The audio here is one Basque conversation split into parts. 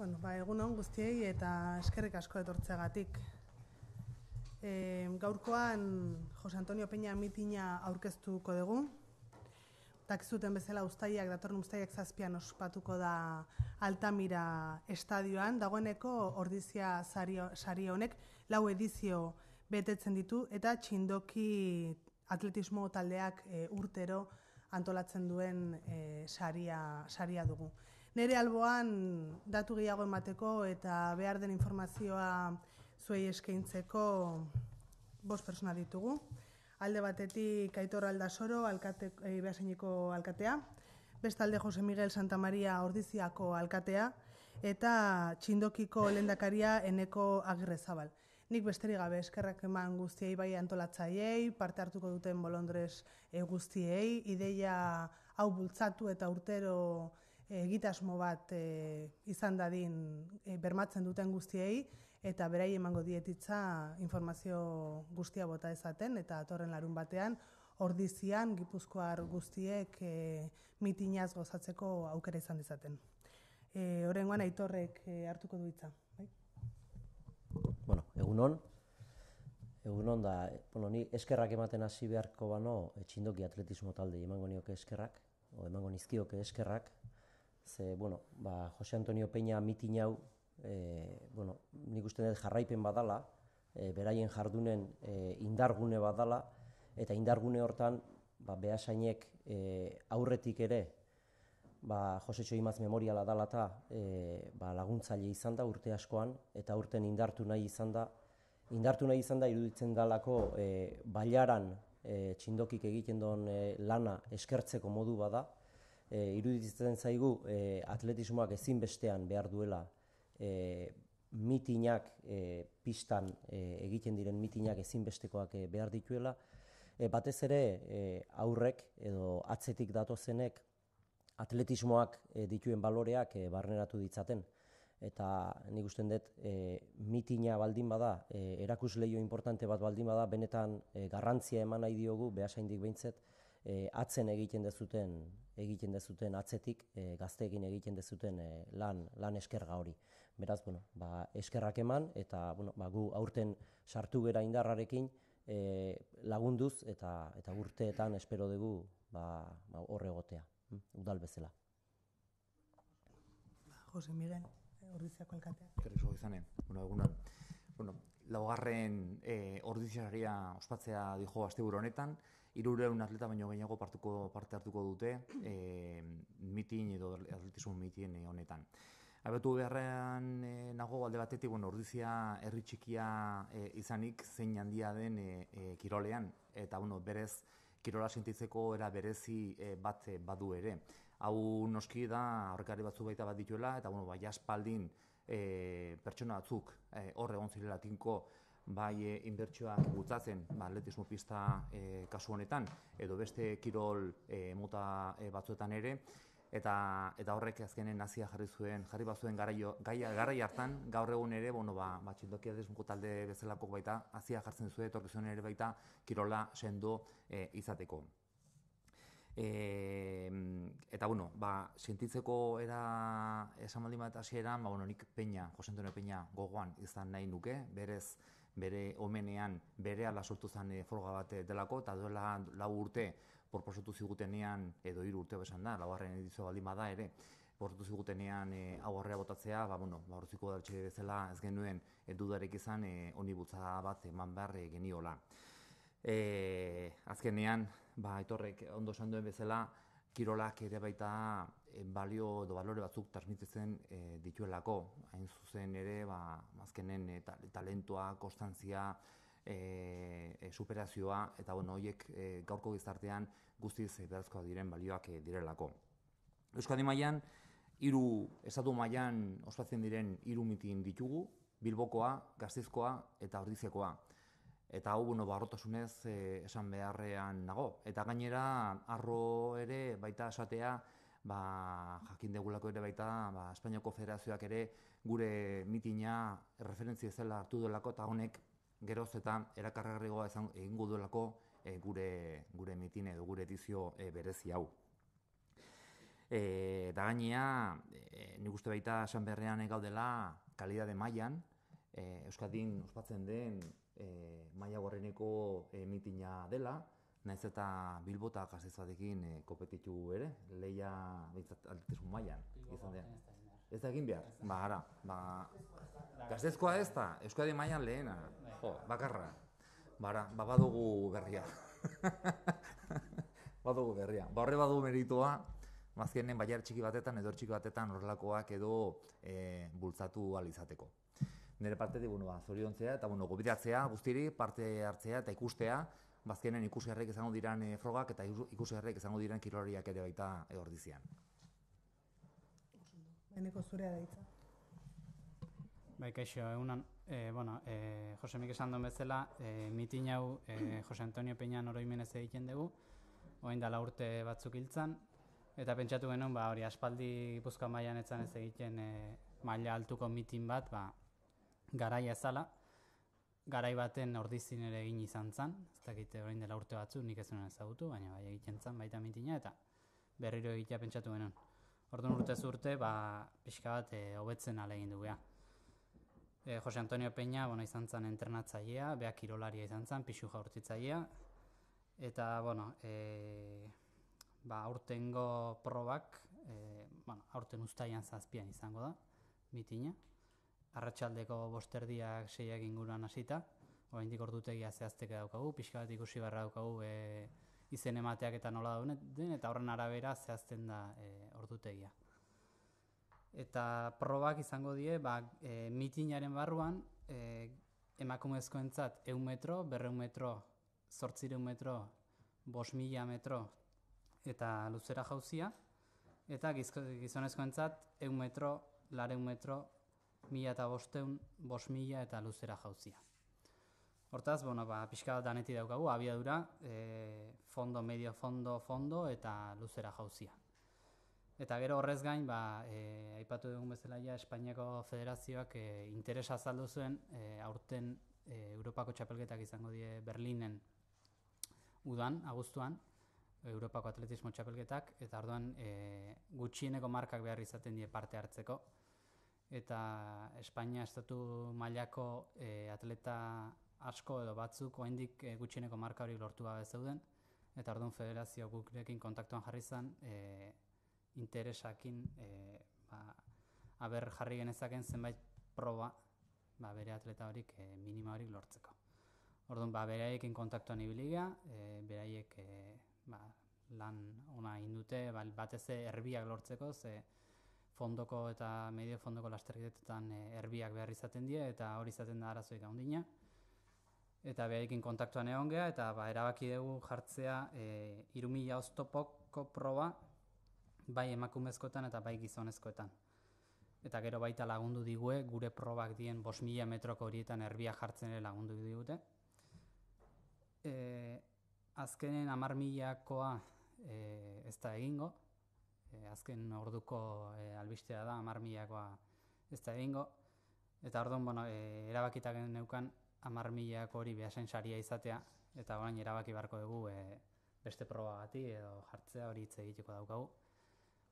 Egunon guztiei eta eskerrik asko etortzeagatik. Gaurkoan Jose Antonio Peña mitina aurkeztuko dugu. Dakizuten bezala datorren uztailak 7 ospatuko da Altamira estadioan. Dagoeneko ordizia sari honek 4 edizio betetzen ditu eta txindoki atletismo taldeak urtero antolatzen duen saria dugu. Nere alboan datu gehiago emateko eta behar den informazioa zuei eskaintzeko 5 pertsona ditugu. Alde batetik Aitor Aldasoro, Beasaineko alkatea, bestalde Jose Miguel Santamaria Ordiziako alkatea eta txindokiko lehendakaria Eneko Agirrezabal. Nik besterik gabe eskerrak eman guztiei bai antolatzaileei, parte hartuko duten bolondres guztiei, ideia hau bultzatu eta urtero egitasmo bat izan dadin bermatzen duten guztiei eta berai emango dietitza informazio guztia bota ezaten eta atorren larun batean Ordizian Gipuzkoar guztiek mitinaz gozatzeko aukera izan dezaten. Oraingoan Aitorrek hartuko du hitza. Egunon da, ni eskerrak ematen hasi beharko bano txindoki atletismo talde emango nioke eskerrak, emango nizkioke eskerrak, ze, Jose Antonio Peña mitin hau, nik uste dut jarraipen badala, beraien jardunen indargune badala, eta indargune hortan, Beasainek aurretik ere, Jose Txoimaz memoriala dala eta laguntzaile izan da urte askoan, eta urten indartu nahi izan da iruditzen dalako bailaran txindokik egiten duen lana eskertzeko modu bada, iruditzen zaigu atletismoak ezinbestean behar duela mitinak, pistan egiten diren mitinak ezinbestekoak behar dituela, batez ere aurrek edo atzetik datozenek atletismoak dituen baloreak barneratu ditzaten. Eta nik usten dut mitina baldin bada, erakusleio importante bat baldin bada, benetan garrantzia eman nahi diogu, Beasaindik behintzat, atzen egiten dezuten atzetik, gazteekin egiten dezuten lan eskerga hori. Beraz, eskerrak eman, eta gu aurten sartu gera indarrarekin lagunduz, eta urteetan espero dugu hor egotea, udal bezala. Jose Miguel, Ordiziako alkatea. Kerrizo izanen, egunon. Laugarren ordiziaria ospatzea dijo asteburu honetan, 300 atleta baino gehiago parte hartuko dute mitin edo atletismo mitin honetan. Abetu beharrean nago alde batetik, Ordizia herri txikia izanik zein handia den kirolean, eta berez kirola sentitzeko era berezi bat badu ere. Hau noski da aurrekari batzu baita bat dituela, eta jaspaldin pertsona batzuk hor egon zirela tinko bai inbertsioak bultzatzen atletismo pista kasu honetan, edo beste kirol mota batzuetan ere, eta horrek azkenen nazia jarri bazuen garai hartan, gaur egun ere, txindoki atletismo talde bezalako baita, azia jartzen zuen, etorkizuen ere baita kirola sendo izateko. Eta, sentitzeko era esan baldin bat hasieran, nik Jose Antonio Peña gogoan izan nahi nuke, berez bere omenean berehala sortu zen froga bat delako, eta duela 4 urte proposatu zigutenean, edo 3 urte besan da, 4. edizio baldin bada ere, proposatu zigutenean hau aurrera botatzea, Oroziko udaletxe bezala ez genuen dudarek izan honi bultzada bat eman behar geniola. Azkenean, Aitorrek ondo esan duen bezala, kirolak ere baita balio edo balore batzuk transmititzen dituelako. Hain zuzen ere, azkenen talentoa, konstantzia, superazioa, eta horiek gaurko gizartean guztiz beharrezkoak diren balioak direlako. Euskadi mailan, estatu mailan ospatzen diren 3 mitin ditugu, Bilbokoa, Gasteizkoa eta Ordiziakoa. Eta hau, harrotasunez esan beharrean nago. Eta gainera, arro ere baita esatea, jakin degulako ere baita, Espainiako Federazioak ere gure mitina referentzia zela hartu duelako, eta honek geroz eta erakargarriagoa egingo duelako gure mitin edo gure edizio berezi hau. Da gainea, nik uste baita esan berrean gaudela kalidade mailan, Euskadin ospatzen den maila gorreneko mitina dela, nahiz eta Bilbo eta Gasteiz batekin kopetitu ere, lehia atletismo mailan izan den. Ez da egin behar? Ba, ara, Gasteizkoa ez da, Euskadi mailan lehena, bakarra. Ba, badugu berria. Badugu berria. Ba, horre badugu meritua, azkenen bailar txiki batetan, edor txiki batetan horrelakoak edo bultzatu ahal izateko. Nire partetik, zoriontzea eta gobidatzea guztiri, parte hartzea eta ikustea, bazkenen ikusgarriak izango diren frogak eta ikusgarriak izango diren kirolariak ere baita ordizian. Beneko zurea da hitza. Bai, kaixo, egunan, Jose Mik esan duen bezala, mitin hau Jose Antonio Peñan oroimenez egiten dugu, orain dela urte batzuk hiltzan, eta pentsatu genuen, hori aspaldi Gipuzkoa mailan etzan ez egiten maila altuko mitin bat, garaia ezala, garai baten ordizin ere egin izan zen, ez dakite orain dela urte batzu, nik ez nuen ezagutu, baina bai egiten zen baita mitina, eta berriro egitea pentsatu genuen. Orduan urtez urte, pixka bat hobetzen alegin du beha. Jose Antonio Peña izan zen entrenatzailea, beha kirolaria izan zen, pixu jaurtitzailea, eta aurtengo probak, aurten uztailan 7 izango da, mitina. Arratsaldeko 5:30 6 inguruan hasita, oraindik ordutegia zehazteke daukagu, pixka bat ikusi beharra daukagu izen emateak eta nola den, eta horren arabera zehazten da ordutegia. Eta probak izango die, mitinaren barruan, emakumezkoentzat 100 metro, 200 metro, 800 metro, 5.000 metro eta luzera jauzia, eta gizonezkoentzat 100 metro, 200 metro, 1.500, 5.000 eta luzera jauzia. Hortaz, pixka bat daneti daukagu, abiadura, fondo, medio fondo, fondo eta luzera jauzia. Eta gero horrez gain, aipatu dugun bezala Espainiako Federazioak interesa azaldu zuen, aurten Europako txapelketak izango die Berlinen udan, abuztuan, Europako atletismo txapelketak, eta orduan gutxieneko markak behar izaten die parte hartzeko. Eta Espainia estatu mailako atleta asko edo batzuk oraindik gutxieneko marka hori lortu gabe zeuden, eta orduan federazio gurekin kontaktuan jarri zen interesakin jarri genezaken zenbait proba bere atleta horik minima horik lortzeko. Orduan beraiekin kontaktuan ibili gea, beraiek lan ona egin dute, batez erbiak lortzeko, ze fondoko eta medio fondoko lasterketetan erbiak behar izaten die, eta hori izaten da arazoik handina. Eta beharekin kontaktuan egon geha, eta erabaki dugu jartzea 3.000 oztopoko proba, bai emakumezkoetan eta bai gizonezkoetan. Eta gero baita lagundu digue, gure probak dien 5.000 metroko horietan erbiak jartzen ere lagundu digute. Azkenen 10.000koa ez da egingo, azken orduko albistea da, 10.000koa ez da egingo, eta orduan erabakitak neukan 10.000ko hori behasain saria izatea, eta orain erabaki beharko dugu beste probagati edo jartzea hori hitz egiteko daukagu.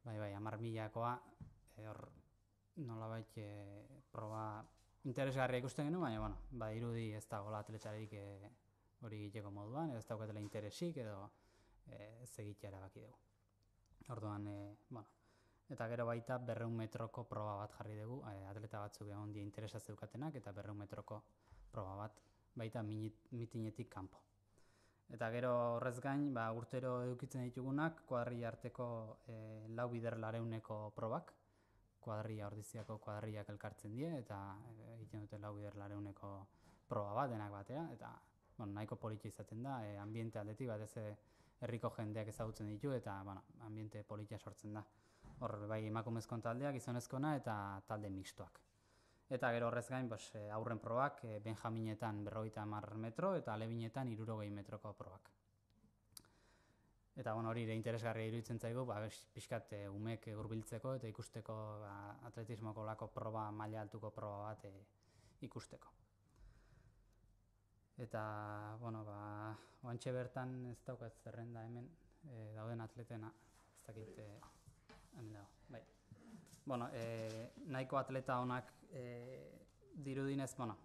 Bai, 10.000koa hor nolabait proba interesgarria ikusten genuen, baina irudi ez dagoela atletxarik hori egiteko moduan, edo ez daukatela interesik edo ez egitea erabaki dugu. Orduan, eta gero baita 200 metroko proba bat jarri dugu, atleta batzuk egon die interesa zeukatenak, eta 200 metroko proba bat baita mitinetik kanpo. Eta gero horrez gain, urtero edukitzen ditugunak, kuadrilla arteko 4 bider 400ko probak, kuadrilla ordiziako kuadrillak elkartzen die, eta egiten dute 4 bider 400ko proba bat, denak batera, eta nahiko politia izaten da, ambiente aldetik bat ez herriko jendeak ezagutzen ditu, eta ambiente politia sortzen da. Hor, bai emakumezkoen taldea, gizonezkoena eta talde mixtoak. Eta gero horrez gain, aurren probak, benjaminetan 50 metro eta alebinetan 60 metroko probak. Eta hori ere interesgarria iruditzen zaigu, pixkat umek hurbiltzeko eta ikusteko atletismoko lako proba, maila altuko proba bat ikusteko. Eta, oantxe bertan ez daukat zerrenda hemen dauden atletena, ez dakit hemen dago, bai. Bueno, nahiko atleta honak dirudinez, bueno,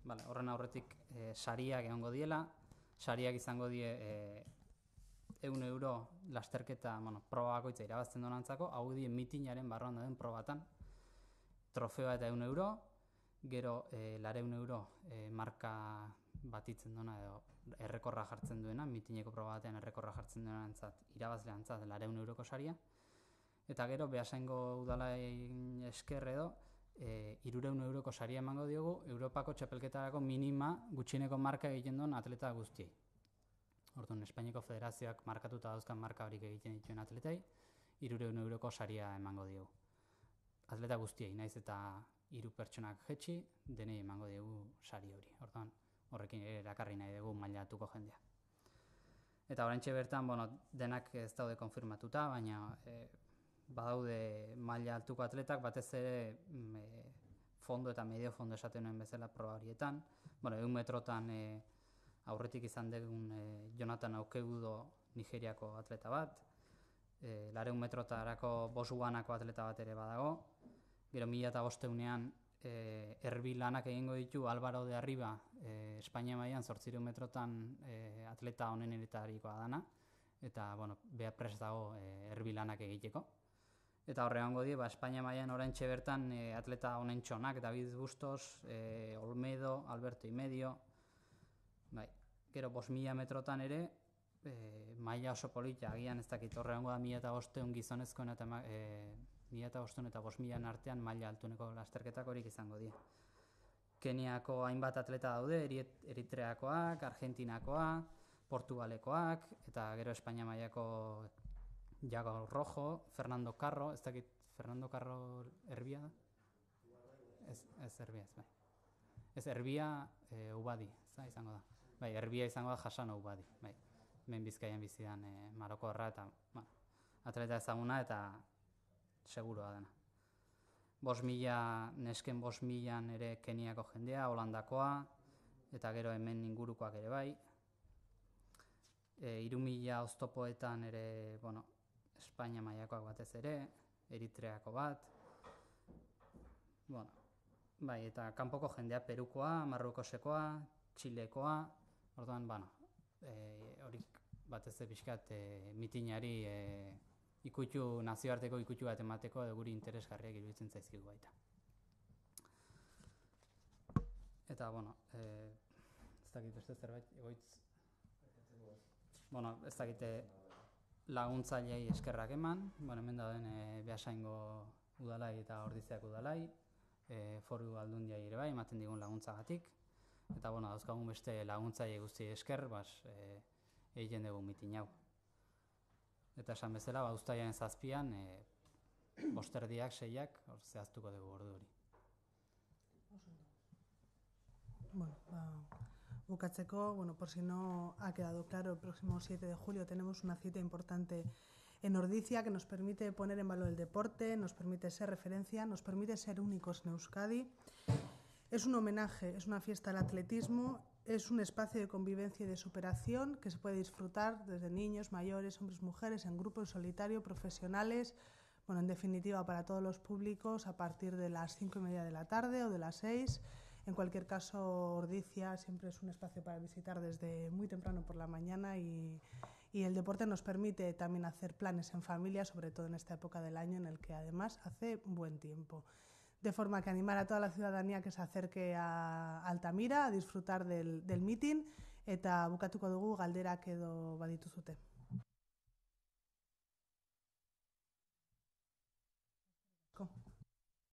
vale, horren aurretik sariak egongo diela, sariak izango die 100 euro lasterketa, bueno, proba bakoitza irabazten donantzako, hau die mitinaren barruan dauden probatan, trofeoa eta 100 euro, gero 200 euro marka batitzen duna edo errekorra jartzen duena, mitineko proba batean errekorra jartzen duenantzat, irabazleantzat 200 euroko saria, eta gero Beasaingo udalain esker edo 300 euroko saria emango diogu Europako txapelketarako minima gutxieneko marka egiten duen atleta guztiei. Orduan, Espainiako Federazioak markatuta dauzkan marka horik egiten dituen atletai, 300 euroko saria emango diogu. Atleta guztiei, naiz eta 3 pertsonak jetxi, denei emango diogu sari hori. Orduan, horrekin erakarri nahi dugu mailatuko jendea. Eta oraintxe bertan, bueno, denak ez daude konfirmatuta, baina badaude maila altuko atletak, batez ere fondo eta medio fondo esaten nuen bezala proba horietan. Bueno, 100 metrotan aurretik izan dugun Jonathan Aukeudo Nigeriako atleta bat, 200 metrotarako Botswanako atleta bat ere badago, gero 1500ean erbi lanak egingo ditu Álvaro de Arriba, Espainia mailan 800 metrotan atleta onenetarikoa dana, eta bueno, bea prest dago erbi lanak egiteko. Eta horre egongo die, Espainia mailan oraintxe bertan atleta onentxonak, David Bustos, Olmedo, Alberto Imedio, bai, gero 5000 metrotan ere, maila oso polita, agian ez dakit, horre egongo da 1500 gizonezkoen eta 1500 eta 5000 artean maila altuneko lasterketak horik izango die. Keniako hainbat atleta daude, Eritreakoak, Argentinakoa, Portugalekoak, eta gero Espainia mailako Jago Rojo, Fernando Carro, ez dakit, Fernando Carro erbia da? Ez erbia, ez bai. Ez erbia Ubadi, ez izango da. Bai, erbia izango da Hasano Ubadi, bai. Hemen Bizkaian bizidan Marokorra eta atleta ezaguna eta seguroa dena. 5000, nesken 5000an ere Keniako jendea, Holandakoa, eta gero hemen ingurukoak ere bai. 3000 oztopoetan ere, bueno, Espainia mailakoak batez ere, Eritreako bat, bueno, bai, eta kanpoko jendea Perukoa, Marrukosekoa, Txilekoa, orduan, bueno, horik batez pixkat mitinari nazioarteko ikutu bat emateko edo guri interesgarriak iruditzen zaizkigu baita. Eta, bueno, ez dakit beste zerbait, egoitz, bueno, ez dakite laguntzaileei eskerrak eman, bueno, hemen dauden Beasaingo udalai eta Ordiziako udalai, foru aldundiai ere bai, ematen digun laguntzagatik, eta, bueno, dauzkagun beste laguntzaile guzti esker, egiten dugu mitin hau. Eta esan bezala, uztailaren 7an, 5:30, 6ak, zehaztuko dugu ordu hori. Bueno, bukatzeko, bueno, por si no ha quedado claro, el próximo 7 de julio tenemos una cita importante en Ordizia que nos permite poner en valor el deporte, nos permite ser referencia, nos permite ser únicos en Euskadi. Es un homenaje, es una fiesta al atletismo, es un espacio de convivencia y de superación que se puede disfrutar desde niños, mayores, hombres, mujeres, en grupo, en solitario, profesionales, bueno, en definitiva para todos los públicos a partir de las 5:30 de la tarde o de las 6. En cualquier caso, Ordizia siempre es un espacio para visitar desde muy temprano por la mañana y el deporte nos permite también hacer planes en familia, sobre todo en esta época del año en el que además hace buen tiempo. De forma que animar a toda la ciudadanía que se acerque a Altamira a disfrutar del meeting eta bukatuko dugu galderak edo badituzute.